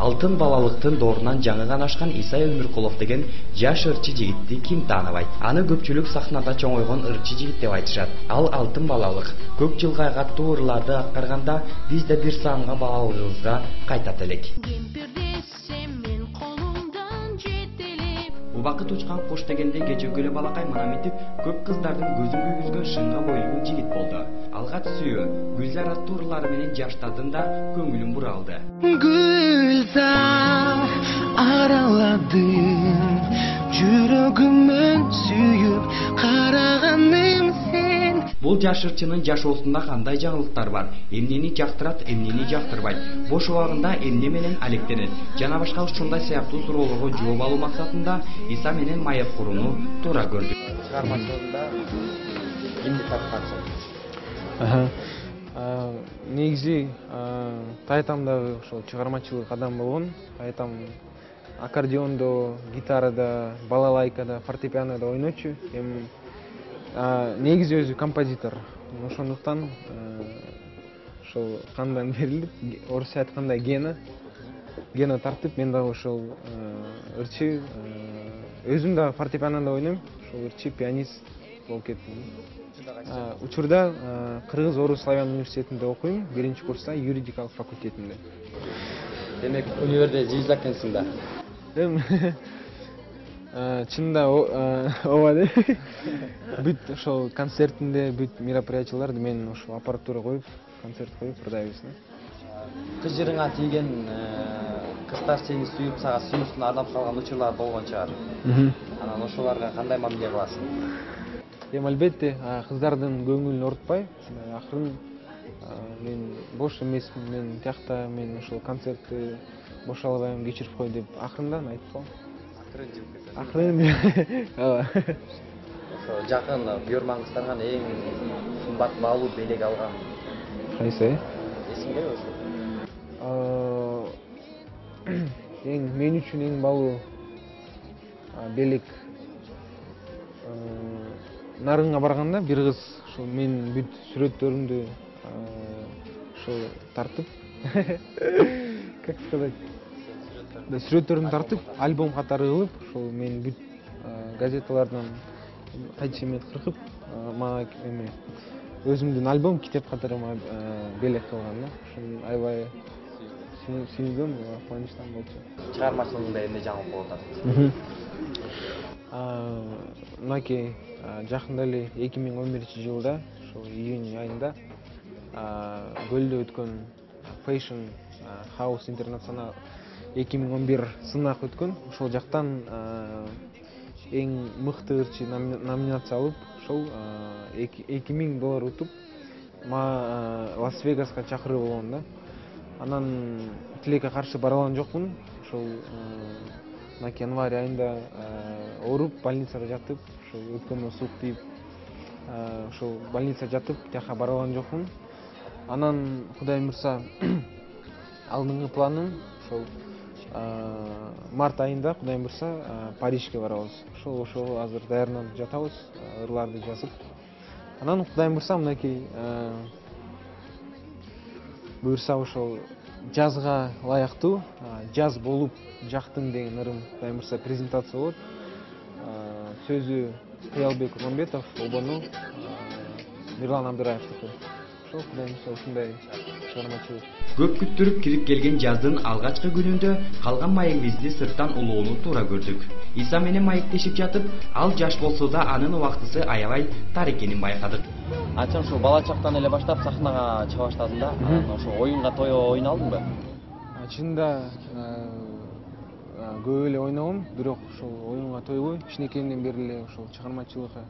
Алтын балалыктын доорунан жаңы гана ашкан Исай Өмүркулов деген жаш ырчы жигитти ким тааныбайт? Аны көпчүлүк сахнада чоңойгон ырчы жигит деп айтышат. Ал алтын балалык. Көк жылга каттуу ырларды аткарганда биз да бир саамга балалыгыбызга кайтат элек. Убакыт учкан кош дегенде кечеги эле балакай мына мынтип көп кыздардын көзүн күйгүзгөн шыңга бойлуу жигит болду. Алгач сүйүү, Гүлзар аттуу ырлары менен жаштардын да көңүлүн бура алды. Gülzar araladın жүрөгүмөн сүйүп караганым сен. Бул жаш ырчынын жашоосунда кандай жаңылыктар бар? Эмнени жактырат, эмнени жактырбайт? Бош убагында эмне менен алектенет? Жана башка ушундай сыяктуу суроолорго жооп алуу максатында Иса менен маек курууну туура көрдүк. Чыгармачылыгында кимди тапкансың? Негизи тайтамдагы ошол чыгармачылык адам болгон. Тайтам аккордеондо, гитарада, балалайкада, фортепианода ойночу. Эми негизи өзү композитор. Ошондуктан ошол кандан берилип, орусча айтканда гена тартып, мен дагы ошол ырчы өзүм да фортепианода ойнойм. Ошол ырчы пианист болуп кеттим. Учурда Кыргыз-Орус славян университетинде окуйм, 1-курста, юридикалык факультетинде. Демек универде жизнь экенсиң да. Чында ооба де. Бүт ошол концертинде, бүт мероприятияларды мен ошол аппаратура коюп, концерт коюп ырдайбыз. Кыз жырыңа тийген кыздар сени сүйүп, сага сүйүүсүн ардап калган учурлар болгон чыгар. Анан ошолорго кандай мамиле кыласың? Эми албетте кыздардын көңүлүн орутпай, акырын мен бош эмесмин, мен тиякта мен ошол концертти бош албайм, кечирип кой деп акырындан айтып коем. Акырын. Ооба. Ошо жакын көрмөн кыздардан эң кымбат баалуу белек алган. Кайсы? Эсиңдеби ошо? Мен үчүн эң баалуу белек нарынга барганда бир кыз ошол мен бүт сүрөттөрүмдү ошол тартып, как сказать, сүрөттөрүмдү тартып, альбом катары кылып, ошол мен бүт газеталардан кайчы эмет кыркып, мага эме өзүмдүн альбом китеп катары белек кылган да. Ошол аябай сүйүндүм, кубанычтан болчу. Чыгармачылыгыңда эмне жаңылык болуп атат? Мынакей жакында эле 2011-жылда ошол июнь айында Көлдө өткөн Fashion House International 2011 сынак өткөн. Ошол жактан эң мыкты ырчы номинация алып, ошол $2000 утуп, Лас-Вегаска чакыруу болгон да. Анан тилекке каршы бара алган жокмун. Ошол январь айында ооруп, больницада жатып, ошол өткөмө суук тийип, ошол больницада жатып, тияка бара алган жокмун. Анан Кудайым буйрса, алдыңкы планым ошол март айында Кудайым буйрса Парижге барабыз. Ошол азыр даярданып жатабыз, ырларды жазып. Анан Кудайым буйрса мынакей буйрса ошол жазга лаяктуу жаз болуп жактың деген ырым Кудайым буйрса презентация болот. Сөзү Кыялбек Курманбетов, обону Мирлан Абдыраевдики. Ошол Кудайым буйрса ушундай чыгармачылык. Көп күттүрүп кирип келген жаздын алгачкы күнүндө калган маегибизди сырттан улоону туура көрдүк. Иса менен маектешип жатып, ал жаш болсо да анын убактысы аябай тар экенин байкадык. Ачан ушул бала чактан эле баштап сахнага чыга баштадың да. Ошо оюнга тойго ойналдыңбы? Чында көп эле ойногом, бирок ошол оюнга тойбой, кичинекейимден бери эле ошол чыгармачылыкка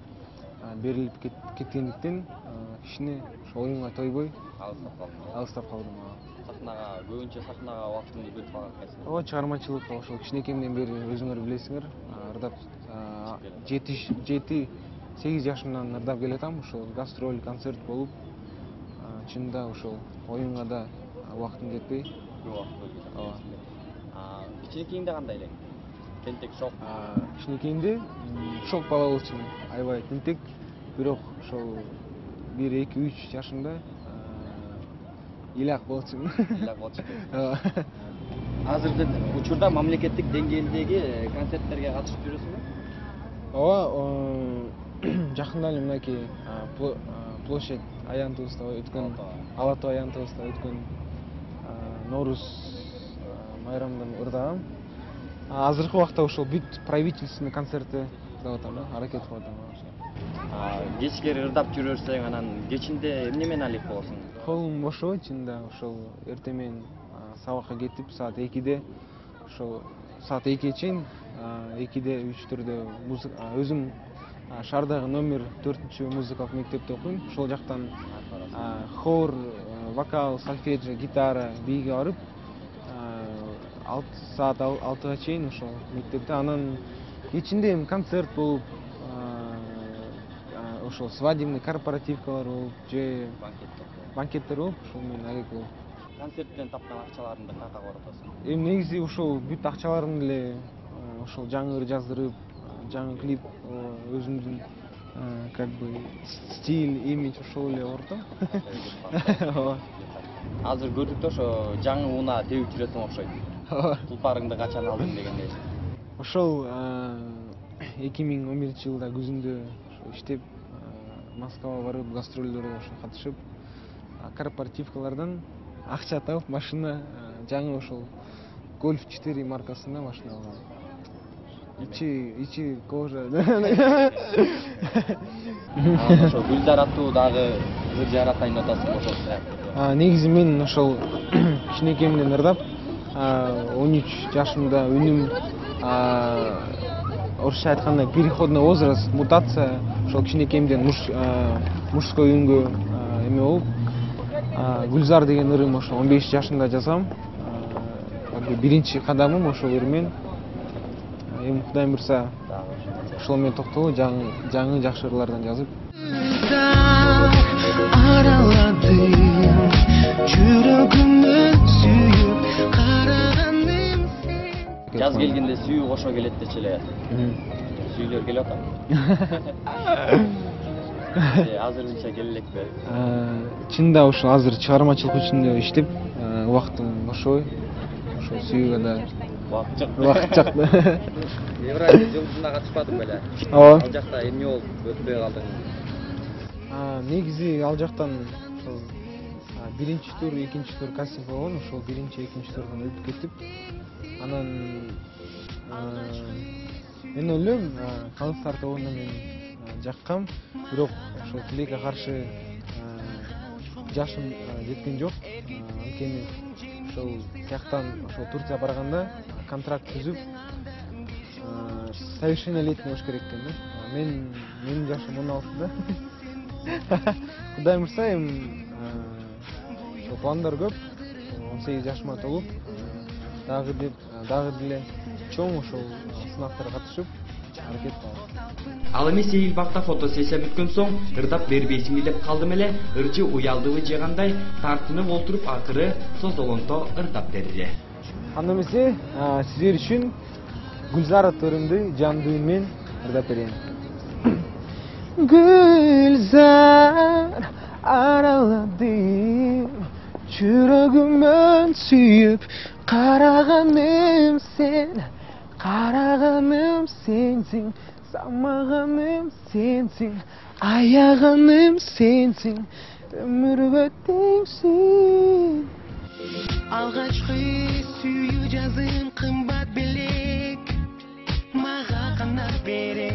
берилип кеткендиктен кичине ошол оюнга тойбой алыстап калдым. Сахнага көбүнчө убактыңды бөлүп алган экенсиң. Ооба, чыгармачылыкка ошол кичинекейимден бери өзүңөр билесиңер, ырдап 7-8 жашымдан ырдап келатам. Ошол гастроль, концерт болуп, чында ошол оюнга да убактым жетпей. Ооба. Кичинекейиңде кандай элең? Тентек, шок. Кичинекейимде шок бала болчумун, аябай тентек. Бирок ошол 1-2-3 жашымда илак болчумун. Илак болчу. азыркы учурда мамлекеттик деңгээлдеги концерттерге катышып жүрөсүңбү? Ооба, жакында эле мынакей площадь аянтыбызда өткөн, Ала тоо аянтыбызда өткөн Нооруз майрамынан ырдагам. Азыркы убакта ошол бүт правительственный концертти ырдап атам, аракет кылып атам. Кечкери ырдап жүрөрсөң, анан кечинде эмне менен алек болосуң? Колум бошобойт чынында, ошол эртең менен сабакка кетип, саат 2-де, ошол саат 2-ге чейин 2-де 3-төрдө өзүм шаардагы номер 4 музыкалык мектепте окуйм. Ошол жактан хор, вокал, сольфеджио, гитара, бийге барып, саат 6-га чейин ошол мектепте. Анан кечинде концерт болуп, ошол свадебный корпоративкалар болуп, же банкеттер болуп, ошол менен алек болуп. Концерттен тапкан акчаларыңды кантка коротосуң? Негизи ошол бүт акчаларымды эле ошол жаңы ыр жаздырып, жаңы клип, өзүмдүн как бы стиль, имидж ошол эле коротом. Азыр көрдүк да, ошо жаңы унаа тебип жүрөсүң окшойт. Тулпарыңды качан алдың дегендей. Ошол 2011-жылда күзүндө иштеп, Москвага барып, гастролдорго катышып, корпоративкалардан акча тауып, машина жаңы ошол Golf 4 маркасында машина алгам. Ичи кожа. Ошо Гүлзар аттуу дагы ыр жаратайын деп атасың ошол сыяктуу. Негизи мен ошол кичинекейимден ырдап, 13 жашымда үнүм орусча айтканда переходный возраст, мутация, ошол кичинекейимден мужской үнгө эме болуп, Гүлзар деген ырым ошо 15 жашымда жазгам. Биринчи кадамым ошол ырмен. Эми Кудайым буйрса, ошол менен токтолуп, жаңы жакшы ырлардан жазып. Жаз келгенде сүйүү кошо келет дечи эле. Сүйүлөр келип атам. Азырынча келе элекпи? Чында ошо азыр чыгармачылык үчүн иштеп, убактым бошобой. Ошо сүйүүгө да убакыт жок. Евразия жылдызына катышпадың беле? Ооба. Ал жакта эмне болуп өтпөй калдың? Негизи ал жактан ошол биринчи тур, экинчи тур кастинг болгон, ошол биринчи, экинчи турдан өтүп кетип, анан мен ойлойм, Калыстар тобуна мен жаккам, бирок ошол тилекке каршы жашым жеткен жок. Анткени ошол тияктан ошол Турцияга барганда контракт түзүп, совершеннолетний болуш керек экен да. Менин жашым 16-да. Кудайым буйрса, эми ошол пландар көп. 18 жашыма толуп, дагы деле чоң ошол сынактарга катышып, аракет кылам. Ал эми Сейил Бакта фотосессия бүткөн соң ырдап бербейсиңби деп калдым эле. Ырчы уялдыбы же кандай тартынып олтуруп акыры созолонто ырдап берди. Анда эмесе, сиздер үчүн Гүлзар аттуу ырымды жандуу үн менен ырдап берейин. Gülzar araladım, жүрөгүмөн сүйүп, караганым сенсиң, самаганым сенсиң, аяганым сенсиң, өмүргө теңсиң. Алгачкы сүйүү жазым кымбат белек, мага канат бере.